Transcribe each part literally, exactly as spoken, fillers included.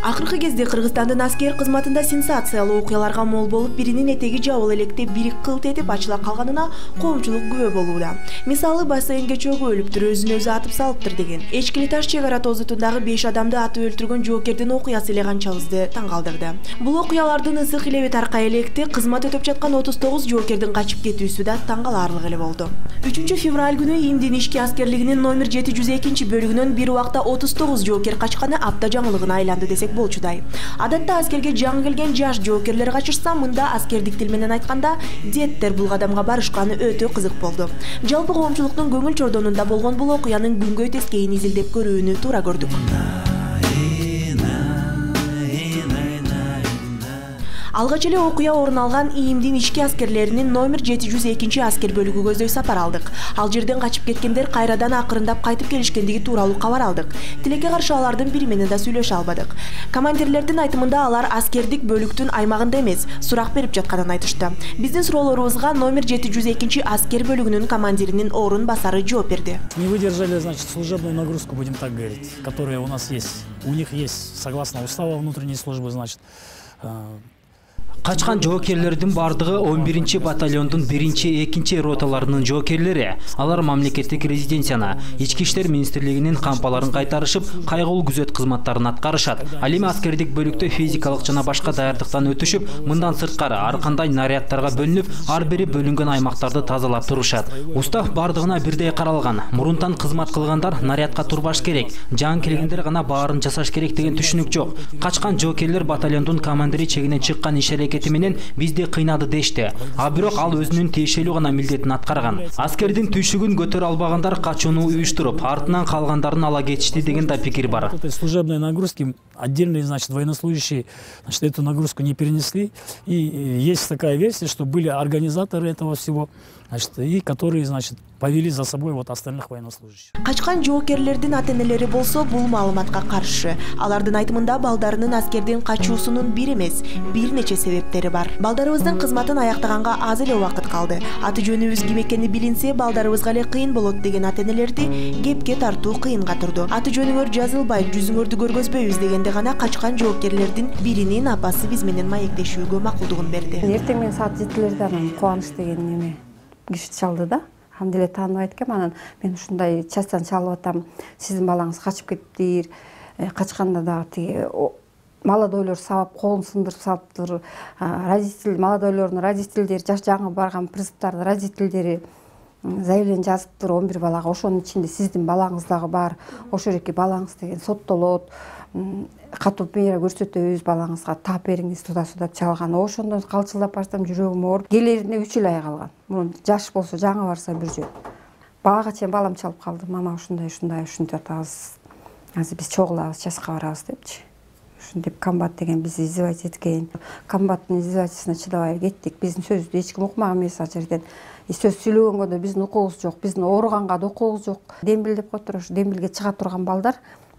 Акыркы кезде Кыргызстандын аскер кызматында сенсациялуу окуяларга мол болуп, биринин этеги жабыл электе бири кылт этип ачыла калганына коомчулук күбө болууда. Мисалы, бассейнге чөгүп өлүптүр, өзүн өзү атып салыптыр деген. Эчкили таш чек ара тозутундагы беш адамды атып өлтүргөн жоокердин окуясы эле канчабызды таң калтырды. Бул окуялардын ысык илеби таркай электе кызмат өтөп жаткан отуз тогуз жоокердин качып кетүүсү да таң каларлык эле болду. үчүнчү февраль күнү ИИМдин ички аскерлигинин номер жети жүз экинчи бөлүгүнөн бир убакта отуз тогуз жоокер качканы апта жаңылыгына айланды десек болчудай. Адатта аскерге жаңы келген жаш жоокерлер качышса, мында аскердик тил менен айтканда деттер бул кадамга барышканы өтө кызык болду. Жалпы коомчулуктун көңүл чордонунда болгон бул окуянын күнгөй тескейин изилдеп көрүүнү туура көрдүк. Алгач эле окуя орун алган ИИМдин ички аскерлеринин номер жети жүз экинчи аскер бөлүгү көздөй сапар алдык. Ал жерден качып кеткендер кайрадан акырындап кайтып келишкендиги тууралуу кабар алдык. Тилекке каршы алардын бири менен да сүйлөшө албадык. Командирлердин айтымында алар аскердик бөлүктүн аймагында эмес, сурак берип жатканын айтышты. Биздин суроолорубузга номер жети жүз экинчи аскер бөлүгүнүн командиринин орун басары жооп берди. Не выдержали, значит, служебную нагрузку, будем так говорить, которая у нас есть. У них есть, согласно устава внутренней службы, значит, Качкан жоокерлердин бардыгы он биринчи батальондун биринчи, экинчи роталарынын жоокерлери. Алар мамлекеттик резиденцияны, ички иштер министрлигинин кампаларын кайтарышып, кайгылуу күзөт кызматтарын аткарышат. Ал эми аскердик бөлүктө физикалык жана башка даярдыктан өтүшүп, мындан сырткары ар кандай нарядтарга бөлүнүп, ар бири бөлүнгөн аймактарды тазалап турушат. Устав бардыгына бирдей каралган. Мурунтан кызмат кылгандар нарядка турбаш керек, жаңы келгендер гана баарын жасаш керек деген түшүнүк жок. Качкан жоокерлер батальондун командири чегинен чыккан иш аракети менен бизди кыйнады дешти. А бирок ал өзүнүн тиешелүү гана милдетин аткарган. Аскердин түшүгүн көтөрө албагандар качууну уюштуруп, артынан калгандарын ала кетишти деген да пикир бар. Служебные нагрузки отдельные, значит, военнослужащие, значит, эту нагрузку не перенесли. И есть такая версия, что были организаторы этого всего, значит, и которые, значит, повели за собой вот остальных военнослужащих. Качкан жоокерлердин ата-энелери болсо бул маалыматка каршы. Алардын айтымында балдарынын аскердин качуусунун бир эмес, бир нече себептери бар. Балдарыбыздын кызматын аяктаганга аз эле убакыт калды. Аты жөнүбүз ким экени билинсе, балдарыбызга эле кыйын болот деген ата-энелерди кепке тартуу кыйынга турду. Аты жөнүңөр жазылбайт, жүзүңөрдү көргөзбөйбүз дегенде гана качкан жоокерлердин биринин апасы биз менен маектешүүгө макулдугун берди. Эртең менен саат жетилерде анан кубаныч деген неме киши чалды да. Хамделе тааныбайт экен, анан мен ушундай частан чалып атам, сиздин балаңыз качып кетиптир, качканда дагы тиги молодойлор сабап колун сындырып салыптыр, родитель, молодойлордун родительдери, жаш жаңы барган призывтардын родительдери заявление жазыптыр он бир балага, ошонун ичинде сиздин балаңыз дагы бар, ошол жерге балаңыз деген соттолот, катуу мера көрсөтөбүз, балаңызга таап бериңиз, туда-суда чалган. Ошондон калчылдап барсам жүрөгүм ооруп, келерине үч ай калган. Мурун жаш болсо жаңы барса бир жөн. Багага чейин балам чалып калды. Мама ушундай, ушундай, ушинтип атабыз. Азыр биз чогулабыз, часка барабыз депчи. Ушинтип комбат деген бизди издевать эткен. Комбаттын издевательствосуна чыдабай кеттик. Биздин сөздү эч ким укмаган эмес ал жерден. Сөз сүйлөгөнгө да биздин укугубуз жок, биздин ооруганга да укугубуз жок. Дембил деп коет, ошо дембилге чыга турган балдар,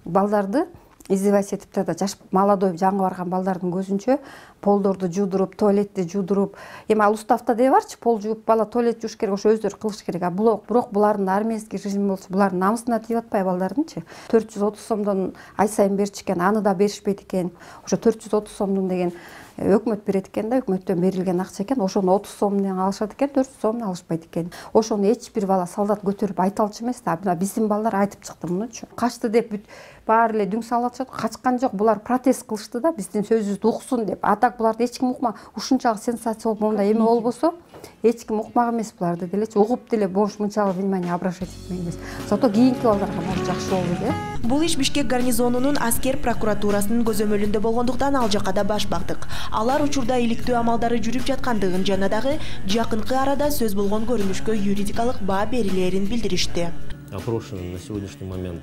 балдарды издевать этип да жаш молодой жаңы барган балдардын көзүнчө полдорду жуудуруп, туалетти жуудуруп, эми ал уставта дей барчы, пол жууп, бала туалет жууш керек, ошо өздөрү кылыш керек. А бирок булардын армейский режим болсо, булардын намысына тийип атпайбы балдардынчы? төрт жүз отуз сомдон ай сайын берчү экен, аны да беришпейт экен. Ошо төрт жүз отуз сомдон деген өкмөт берет экен да, өкмөттөн берилген акча экен. Ошону отуз сом менен алышат экен, төрт жүз сомун алышпайт экен. Ошону эч бир бала солдат көтөрүп айта алчу эмес да. Биздин балдар айтып чыкты мунучу. Качты деп баары эле дүң салып атышат. Качкан жок, булар протест кылышты да, биздин сөзүбүздү уксун деп. А так буларды эч ким укма. Ушунчалык сенсация болуп, мондай эме болбосо, эч ким укмак эмес буларды делечи. Угуп деле бош мынчалык внимание обращать этмек эмес. Зато кийинки балдарга могу жакшы болду да. Бул иш Бишкек гарнизонунун аскер прокуратурасынын көзөмөлүндө болгондуктан ал жака да баш бактык. Алар учурда иликтөө амалдары жүрүп жаткандыгын жана дагы жакынкы арада сөз болгон көрүнүшкө юридикалык баа берилерин билдиришти. Опрошены на сегодняшний момент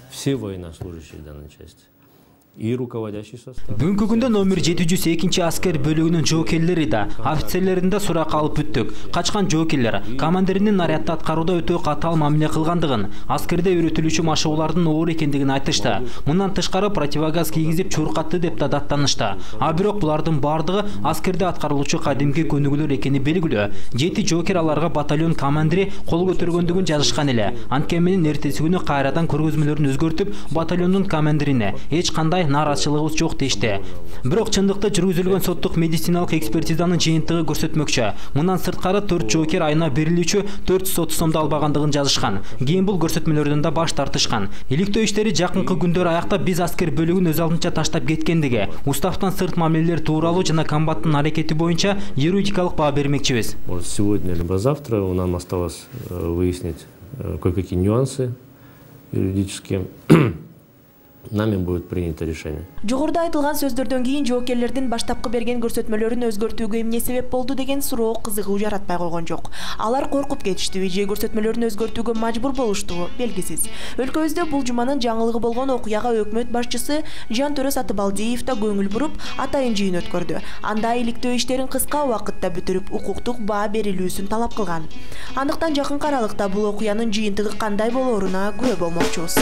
все военнослужащие данной части. И руководящий состав. Бүгүнкү күндө номер жети жүз экинчи аскер бөлүгүнүн жоокерлери да, офицерлерин да сурак алып бүттүк. Качкан жоокерлер командиринин нарядды аткарууда өтө катаал мамиле кылгандыгын, аскерде үйрөтүлүүчү машыгуулардын оор экендигин айтышты. Мындан тышкары противогаз кийгизип чуркатты деп да даттанышты. А бирок булардын бардыгы аскерде аткарылуучу кадимки көнүгүүлөр экени белгилүү. Жети жоокер аларга батальон командири кол көтөргөндүгүн жазышкан эле. Анткени менен эртеси күнү кайрадан көргөзмөлөрүн өзгөртүп, батальондун командирине эч кандай андай нааразычылыгыбыз жок дешти. Бирок чындыкта жүргүзүлгөн соттук медициналык экспертизанын жыйынтыгы көрсөтмөкчү. Мындан сырткары төрт жоокер айына берилүүчү төрт жүз отуз сомду албагандыгын жазышкан. Кийин бул көрсөтмөлөрдөн да баш тартышкан. Иликтөө иштери жакынкы күндөр аяктап биз аскер бөлүгүн өз алдынча таштап кеткендиги, уставтан сырт мамилелер тууралуу жана комбаттын аракети боюнча юридикалык баа бермекчибиз. Может, сегодня либо завтра нам осталось выяснить кое-какие нюансы юридические. Нами будет принято решение. Жогоруда айтылган сөздөрдөн кийин жоокерлердин баштапкы берген көрсөтмөлөрүн өзгөртүүгө эмне себеп болду деген суроо кызыгуу жаратпай койгон жок. Алар коркуп кетиштиби же көрсөтмөлөрүн өзгөртүүгө мажбур болуштугу белгисиз. Өлкөбүздө бул жуманын жаңылыгы болгон окуяга өкмөт башчысы Жантөрө Сатыбалдиев да көңүл буруп, атайын жыйын өткөрдү. Анда иликтөө иштерин кыска убакытта бүтүрүп, укуктук баа берилүүсүн талап кылган. Андыктан жакынкы аралыкта бул окуянын жыйынтыгы кандай болоруна күбө болмокчубуз.